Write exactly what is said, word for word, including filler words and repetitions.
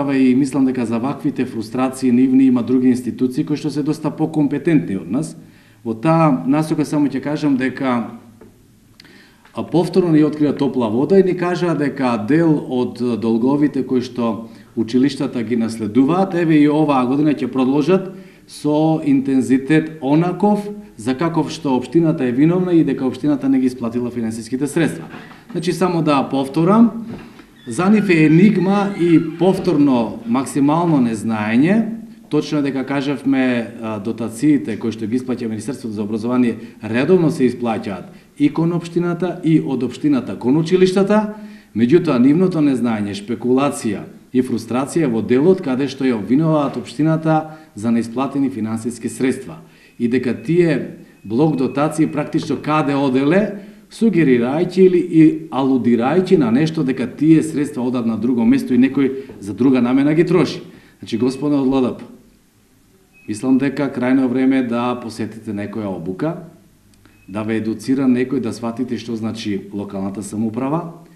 справа и мислам дека за ваквите фрустрации нивни има други институции кои што се доста покомпетентни од нас. Во таа насока само ќе кажам дека повторно ни открија топла вода и ни кажаа дека дел од долговите кои што училиштата ги наследуваат, еве и оваа година ќе продолжат со интензитет онаков за каков што општината е виновна и дека општината не ги исплатила финансиските средства. Значи, само да повторам, за нив е енигма и повторно максимално незнаење. Точно дека кажавме дотациите кои што ги исплаќа Министерството за образование редовно се исплаќаат и кон општината и од општината кон училиштата, меѓутоа нивното незнаење, шпекулација и фрустрација во делот каде што ја обвинуваат општината за неисплатени финансиски средства и дека тие блок дотации практично каде оделе, сугерирајќи или и алудирајќи на нешто дека тие средства одат на друго место и некој за друга намена ги троши. Значи, господа од ЛДП, мислам дека крајно време да посетите некоја обука, да ве едуцира некој да сватите што значи локалната самоуправа,